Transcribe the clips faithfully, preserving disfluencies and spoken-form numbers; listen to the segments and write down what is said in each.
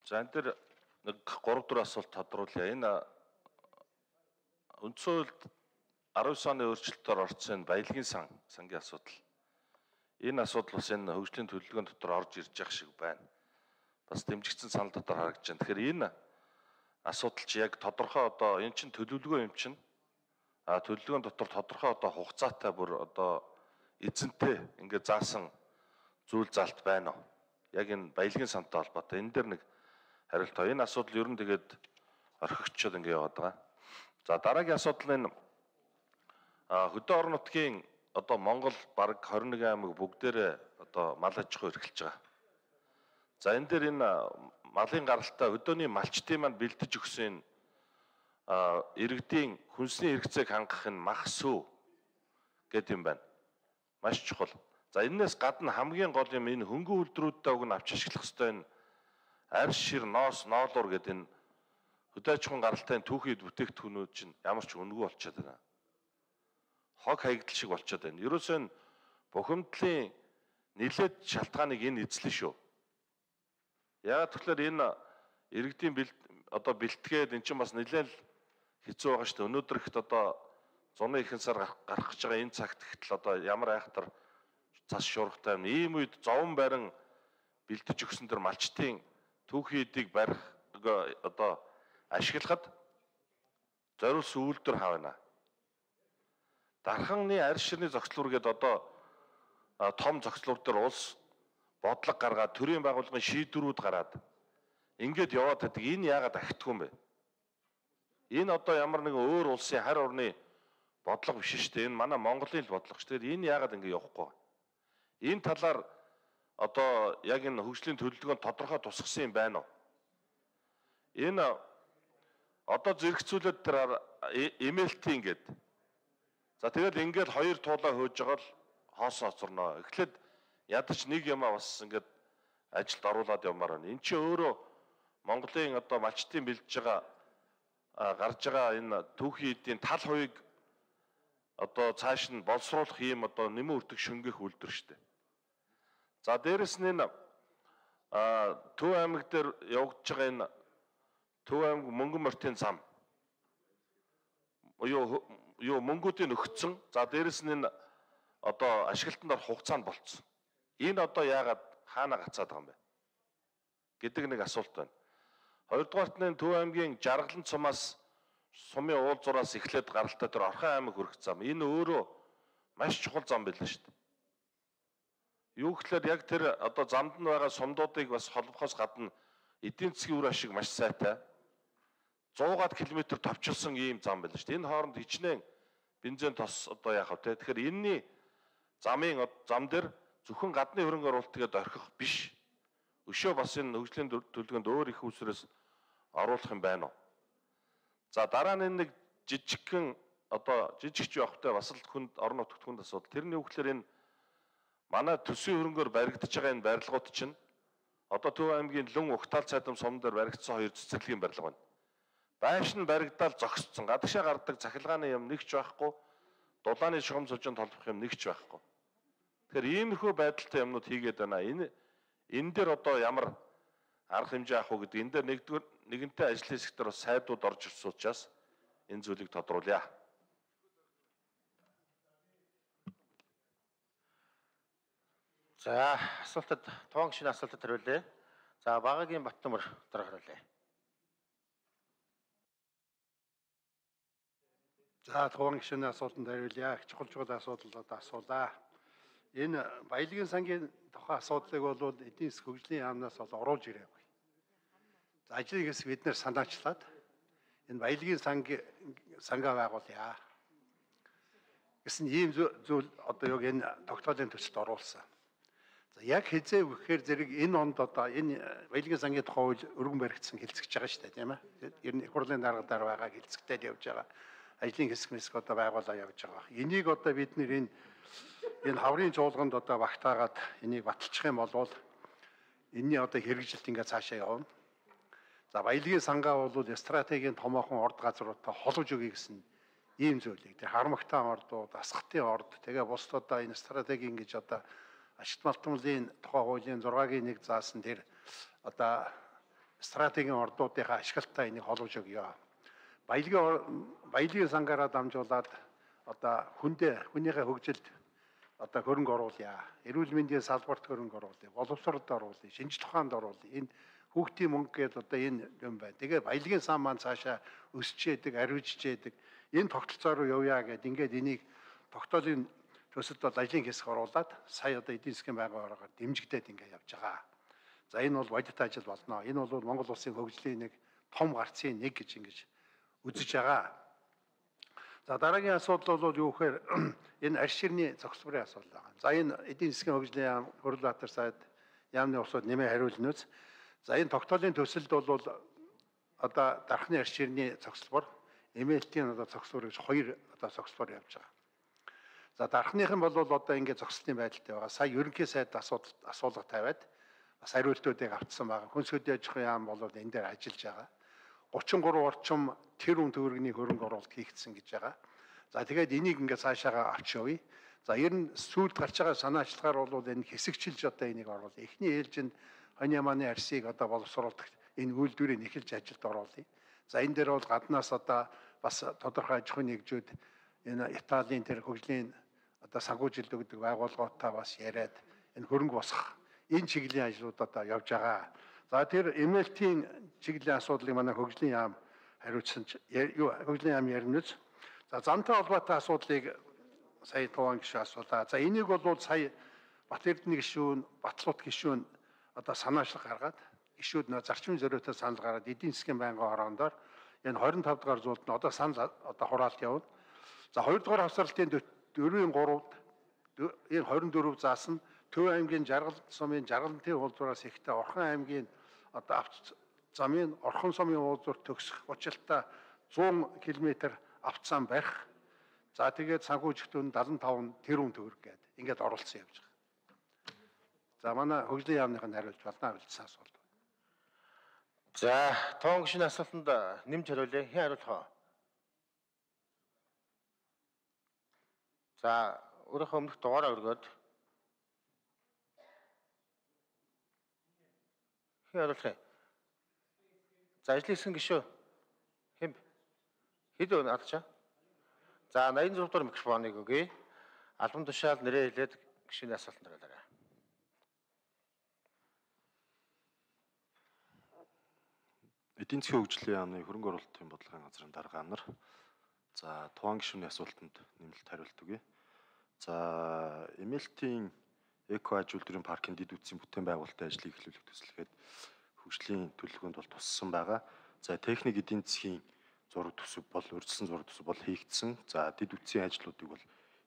За энэ дээр нэг гурав дөрвөн асуулт тодруулъя. Энэ үндсэн хуульд арван девь оны өөрчлөлтөөр орсон баялагын сан сангийн асуудал. Энэ асуудал бас энэ хөгжлийн төлөвлөгөөний дотор орж ирж явах шиг байна. Бас дэмжигдсэн санал дотор харагдаж байна. Тэгэхээр энэ асуудал чи яг тодорхой одоо энэ чинь төлөвлөгөө юм чинь а төлөвлөгөөний дотор тодорхой одоо хугацаатай бүр одоо эзэнтэй ингээд заасан зүйл залт байна уу? Яг энэ баялагын сантай холбоотой. Энэ дээр нэг хариулт. Энэ асуудал ер нь тэгээд орхигчод ингээд яваад байгаа. За дараагийн асуудал нь хөдөө орон нутгийн одоо Монгол бараг хорин нэгэн аймаг бүгдээрээ одоо мал аж ахуй эрхэлж байгаа. За энэ дээр энэ малын гаралтай өдөөний малчтын маань бэлдэж өгсөн иргэдийн хүнсний хэрэгцээг хангах нь мах сүү гэдэг юм байна. Маш чухал. За энэс гадна хамгийн гол юм энэ хөнгөн үйлдвэрүүдтэй уг нь авч ашиглах ёстой энэ арьс шир ноос ноолуур гэдэг энэ хөдөө аж ахуйн гаралтай түүхийд бүтээгдэхүүнүүд чинь ямар ч үнэгүй болчиход байна. Хог хаягдал шиг болчиход байна. Ерөөсөө нь бухимдлын нэлээд шалтгааныг энэ эзлэн шүү. Яагаад тэгэхээр энэ иргэдийн одоо бэлтгээд эн чинь бас нэлээд хэцүү байгаа шүү дээ. Өнөөдөр ихт одоо зуны ихэнх сар гарах гэж байгаа энэ цагт ихтэл одоо ямар айхтар цас шуургатай юм. Ийм үед зовон барин бэлдэж өгсөн төр малчтын түүхийдийг барих одоо ашиглахад зориулсан үйлдвэр хавна. Дарханы арьс ширний зохицлуур гэдэг одоо том зохицлуур дээр улс бодлого гаргаад төрийн байгууллагын шийдвэрүүд гараад ингээд яваад байдаг. Энэ яагаад ахтгүй юм бэ? Энэ одоо ямар нэгэн өөр улсын харь орны бодлого биш шүү дээ. Энэ манай Монголын л бодлого шүү дээ. Энэ яагаад ингэ явахгүй вэ? Энэ талаар одоо яг энэ хөгжлийн төлөвлөгөөнд тодорхой тусгасан юм байна уу? Энэ одоо зэрэгцүүлээд тэр эмэлтийн ингээд. За тэгэл ингээд хоёр туулаа хөөж байгаа л хоосон оцорноо. Эхлээд ядаж нэг юмаа бас ингээд ажилд оруулаад явмаар байна. Энд чинь өөрөө Монголын одоо малчтын бэлдэж байгаа гарч байгаа энэ түүхийн эдийн тал хувийг одоо цааш нь боловсруулах юм одоо нэмэн үрдэг шөнгөх үйлдвэр шүү дээ. За дээрэс нь энэ Төв аймаг дээр явагдаж байгаа энэ Төв аймаг мөнгөн мортын зам юу юу мөнгүүдийн өгцөн. За дээрэс нь энэ одоо ашиглалтанд орох хугацаанд болцсон. Энэ одоо яагаад хаана гацаад байгаа юм бэ гэдэг нэг асуулт байна. Хоёрдугаарт нь Төв аймгийн Жаргалан цумаас сумын уулзуураас эхлээд гаралтай тэр Орхон аймаг хүрэх зам. Энэ өөрөө маш чухал зам байлаа шүү дээ. Юу гэхээр яг тэр одоо замд нь байгаа сумдуудыг бас холбохоос гадна эдийн засгийн үр ашиг маш сайтай. зуугаад километр товчилсон ийм зам байлаа шүү дээ. Энэ хооронд хичнээн бензин тос одоо яах вэ? Тэгэхээр энэний замын зам дээр зөвхөн гадны хөрөнгө оруулалт тэгээд орхих биш. Өшөө бас энэ хөгжлийн төлөвлөгөөнд өөр их усрээс оруулах юм байна уу? За дараа нь нэг жижигхэн одоо жижигч явахтай бас л хүнд орон нутгт хүнд асуудал. Тэрний үг гэхээр энэ манай төсвийн хөрөнгөөр баригдаж байгаа энэ барилгууд чинь одоо Төв аймгийн Лүн Угтаал цайдам сум дээр баригдсан хоёр цэцэрлэгийн барилга байна. Байш нь баригдаал зогсцсон. Гадагшаа гардаг цахилгааны юм нэгч байхгүй. Дулааны шугам сужинд толбох юм нэгч байхгүй. Тэгэхээр иймэрхүү байдалтай юмнууд хийгээд байна. Энэ энэ дээр одоо ямар арга хэмжээ авах уу гэдэг энэ дээр нэгдүгээр нэгэнтээ ажлын сектор бас сайдууд орж ирсэн учраас энэ зүйлийг тодруулъя. За асуултад тоон гişний асуултад хариулъя. За Багагийн Баттамар дараа хариулъя. За тоон гişний асуултанд хариулъя. Чухал чухал асуудлууд асуулаа. Энэ баялагын сангийн тухай асуудлыг бол эдийн засгийн хөгжлийн яамнаас бол оруулж ирээгүй. За ажлын хэсэг бид нэр санаачлаад энэ баялагын сангийн сангаа байгуулъя гэсэн ийм зүйл одоо яг энэ тогтоолын төсөлд оруулсан. За яг хизээ өгөхээр зэрэг энэ онд одоо энэ баялагын сангийн тухай үйл өргөн баригдсан хэлцэж байгаа шүү дээ, тийм ээ. Ер нь их хурлын дарга дараа байгаа хэлцэгтэй явж байгаа. Ажлын хэсэг мэсг одоо байгуулаа явж байгаа. Энийг одоо бид нэр энэ энэ хаврын чуулганд одоо багтаагаад энийг баталчих юм бол энэний одоо хэрэгжилт ингээ цаашаа явна. За баялагын сангаа бол стратегийн томоохон орд газруудаа холбож өгье гэсэн ийм зүйлийг тэр харамгтаан ордууд, асхтын орд тэгээ бусдаа энэ стратегийн гэж одоо ашигт малтмлын тухай хуулийн зургагийн нэг заасан тэр одоо стратегийн ордуудынхаа ашиглалтаа энийг холбож өгье. Баялагын баялагын сангаараа дамжуулаад одоо хүндээ хүнийхээ хөгжилд одоо хөрөнгө оруулъя. Эрүүл мэндийн салбарт хөрөнгө оруулъя. Боловсролд оруулъя. Шинжлэх ухаанд оруулъя. Энэ хүүхдийн мөнгө гэдэг одоо энэ юм байна. Тэгээ баялагын сан маань цаашаа өсч яадаг, арвижж яадаг. Энэ тогтолцоо руу явъя гэд ингээд энийг тогтоолын төсөлд бол ажлын хэсэг оруулаад сая одоо эдийн засгийн байгууллагаар дэмжигдээд ингээд явж байгаа. За энэ бол бодит ажил болно. Энэ бол Монгол улсын хөгжлийн нэг том гарцын нэг гэж ингэж үзэж байгаа. За дараагийн асуудал бол юу гэхээр энэ арьс ширний зохицлын асуудал байна. За энэ эдийн засгийн хөгжлийн яам, хөрөл баатар сайд яамны усууд нэмээ хариулна үз. За энэ тогтоолын төсөлд бол одоо дархны арьс ширний зохицлбор, эмээлтийн одоо зохицлбор гэж хоёр одоо зохицлбор явж байгаа. За дархных нь бол одоо ингээд зогсолтын байдалтай байгаа. Сая ерөнхий сайд асуудал асуулга тавиад бас хариултуудыг авцсан байгаа. Хүнс хөдөө аж ахуйн яам бол энэ дээр ажиллаж байгаа. гучин гурван орчим тэрбум төгрөгийн хөрөнгө оруулалт хийгдсэн гэж байгаа. За тэгээд энийг ингээд цаашаага авч явъя. За ер нь сүүлд гарч байгаа санаачлагаар бол энэ хэсэгчилж одоо энийг оруулъя. Эхний ээлжинд хонь ямааны арсыг одоо боловсруулах энэ үйлдвэрийг эхэлж ажилд оруулъя. За энэ дээр бол гаднаас одоо бас тодорхой аж ахуйн нэгжүүд энэ Италийн тэр хөгжлийн одоо санхүүжилт өгдөг байгууллагуудаа бас яриад энэ хөрөнгө босгох энэ чиглэлийн ажлууд одоо явж байгаа. За тэр эмээлтийн чиглэлийн асуудлыг манай хөгжлийн яам хариуцсан юу хөгжлийн яам яринуц. За зантай холбоотой асуудлыг сая Туван гишүүн асуулаа. За энийг бол сая Бат Эрдэнэ гишүүн, Батлууд гишүүн одоо санаачлах гаргаад гишүүд нөө зарчмын зориутой санал гараад эдийн засгийн байнгын хороондоор энэ двадцать и cinque дугаар зуулд нь одоо санал одоо хураалт явна. За хоёр дугаар хавсралтын дөрвийн гуравд энэ двадцать и четыре заасан Төв аймгийн Жаргал сумын Жаргалантын уулзвараас ихтэй Орхон аймгийн одоо авц замын Орхон сумын уулзвар төгсөх учиртай сто км авцсан барих. За тэгээд санхүүжилтүүд seventy five тэрбум төгрөг гээд ингээд оролцсон явж байгаа. За манай хөгжлийн яамных нь хариулж байна үлдсэн асуулт. За тоон гишүүний асуултанд нэмж хариулъя. Хэн хариулах вэ? За өөрийнхөө өмнөх дугаараа өргөөд хэн хариулах вэ? За ажлын хэсгийн гишүү хэн хэд өн алдчаа? За eighty-six дугаар микрофоныг өгье. Албан тушаал нэрээ хэлээд гишүүний асуултанд хариулаарай. Эдийн засгийн хөгжлийн яамны хөрөнгө оруулалтын бодлогын газрын дарга нар за Туван гишүүний асуултанд нэмэлт хариулт өгье. За эмээлтийн эко аж үйлдвэрийн паркын дэд үтсийн бүтээн байгуулалтын ажлыг эхлүүлэх төслөгээд хөгжлийн төлөвлөгөөнд бол туссан байгаа. За техник эдийн засгийн зураг төсөв бол урьдчилсан зураг төсөв бол хийгдсэн. За дэд үтсийн ажлуудыг бол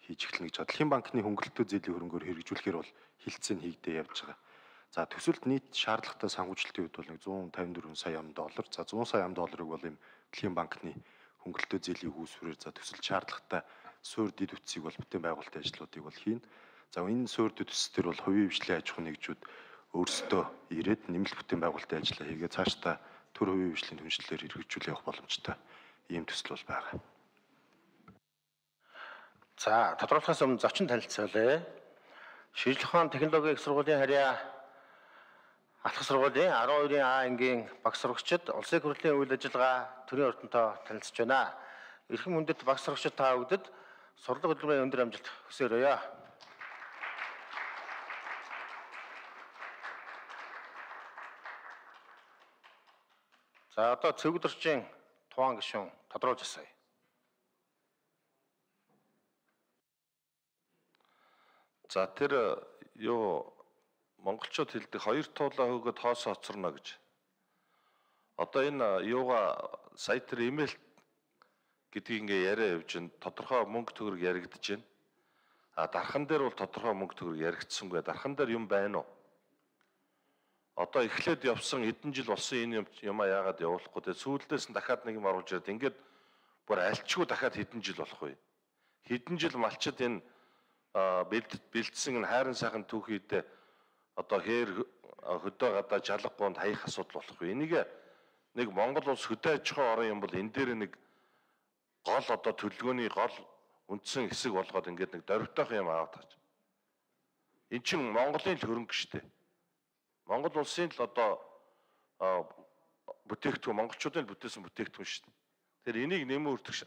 хийж эхэлнэ гэж байна. Дэлхийн банкны хөнгөлөлтөө зээлийн хөрөнгөөр хэрэгжүүлэхээр бол хилцээний хийгдээ явж байгаа. За төсөлд нийт шаардлагатай санхүүжилтийн хувьд бол one hundred fifty-four сая ам доллар. За one hundred сая ам долларыг бол им Дэлхийн банкны хөнгөлөлтөө зээлийн үүсвэрээр за төсөлд шаардлагатай суур дэд үтсийг бол бүтээн байгуулалтын ажлуудыг бол хийн. За энэ суур дэд үтс төр бол хувийн хвшлийн аж ахуй нэгжүүд өөрсдөө ирээд нэмэлт бүтээн байгуулалтын ажлаа хийгээ цаашдаа төр хувийн хвшлийн түншлэлээр хэрэгжүүлэх явах боломжтой ийм төсөл бол байгаа. За тодорхойлохоос өмнө зочин танилцуулъя. Шинжлэх ухааны технологийн их сургуулийн харьяа алхах сургуулийн twelve А ангийн багш сурагчид улсын хурлын үйл ажиллагаа төрийн ордонтой танилцж байна. Эрхэм хүндэт багш сурагчид та бүгдэд сурлага хөтөлбөрийн өндөр амжилт хүсээрэй. За одоо цэгдэрчийн Туван гишүүн тодруулж асууя. За тэр юу монголчууд хэлдэг хоёр туулаа хөгөөд хоосоо хоцорно гэж. Одоо энэ юугаа сая тэр имэйл гэдгийг ингээ яриа явж байна. Тодорхой мөнгө төгрөг яригдж байна. А дархан дээр бол тодорхой мөнгө төгрөг яригдсангүй. Дархан дээр юм байна уу? Одоо эхлээд явсан эдэн жил болсон энэ юм яагаад явуулахгүй те сүүлдээс нь дахиад нэг юм оруулж ирээд ингээд бүр альчгүй дахиад хэдэн жил болох вэ? Хэдэн жил малчид энэ бэлдсэн энэ хайрын сайхан түүхийдээ одоо хээр хөдөө гадаа жалгагуунд хаях асуудал болох вэ? Энийг нэг Монгол улс хөдөө аж ахуй орон юм бол энэ дээр нэг гол одоо төлөвлөгөөний гол үндсэн хэсэг болгоод ингээд нэг дөрвтойх юм аваад тааж. Эн чинь Монголын л хөрөнгө шүү дээ. Монгол улсын л одоо бүтээгдэхүүн монголчуудын бүтээсэн бүтээгдэхүүн шүү дээ. Тэгэхээр энийг нэмэн өртөх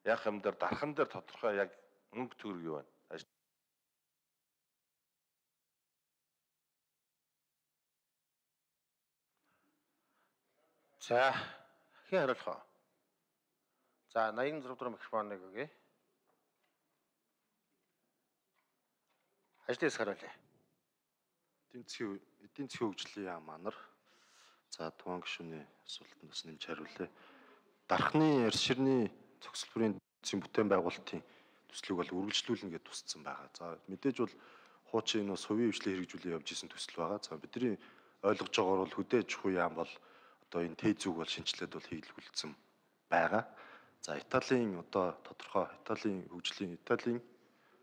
яах юм дээр дархан дээр тодорхой яг мөнгө төгрөг юу байна? За хэн хариулах вэ? За наян зураг дөрөв микрофоныг өгье. Ажлын хэсэг хариулъя. Эдийн засгийн эдийн засгийн хөгжлийн яам манар. За Тухайн гишүүний асуултанд бас нэмж хариулъя. Дархны арьс ширний зохицол бүрийн эдийн бүтээн байгуулалтын төслийг бол үргэлжлүүлнэ гэж тусцсан байгаа. За мэдээж бол хуучин энэ бас хувийн хвшлийн хэрэгжүүлээ явж исэн төсөл байгаа. За бидний ойлгож байгаагаар бол хөдөө аж ахуй яам бол одоо энэ тээ зүг бол шинжилээд бол хийлгүүлсэн байгаа. За Италийн одоо тодорхой Италийн хөгжлийн Италийн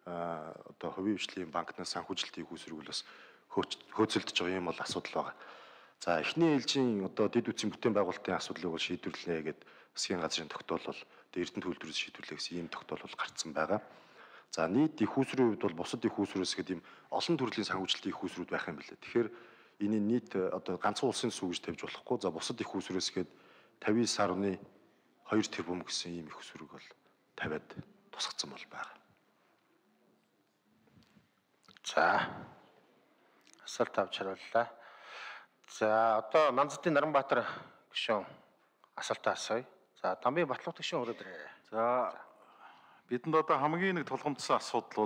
а одоо хувийн хвшлийн банкнаас санхүүжилтийг үүсэрүүл бас хөөцөлдөж байгаа юм бол асуудал байгаа. За эхний ээлжийн одоо дэд үтсийн бүтээн байгуулалтын асуудлыг бол шийдвэрлэнэ гэд засгийн газрын тогтоолол Эрдэнэ төлөвлөрөөс шийдвэрлэх гэсэн ийм тогтоолол гарцсан байгаа. За нийт их усрын хувьд бол бусад их усрээс гэдэг ийм олон төрлийн санхүүжилтийн их усрууд байх юм билээ. Тэгэхээр энэ нийт одоо ганцхан улсын сүү гэж тавьж болохгүй. За бусад их усрээс гээд тавьдаа сарны хоёр тэрбум гэсэн ийм их усрыг бол тавиад тусгацсан бол байгаа. За асуулт авч хариуллаа. За одоо Нанзатын Наранбаатар гишүүн асуултаа асууя. За Дамбын Батлуух гишүүн өрөөдрөө. За бидэнд одоо хамгийн нэг тулгамдсан асуудал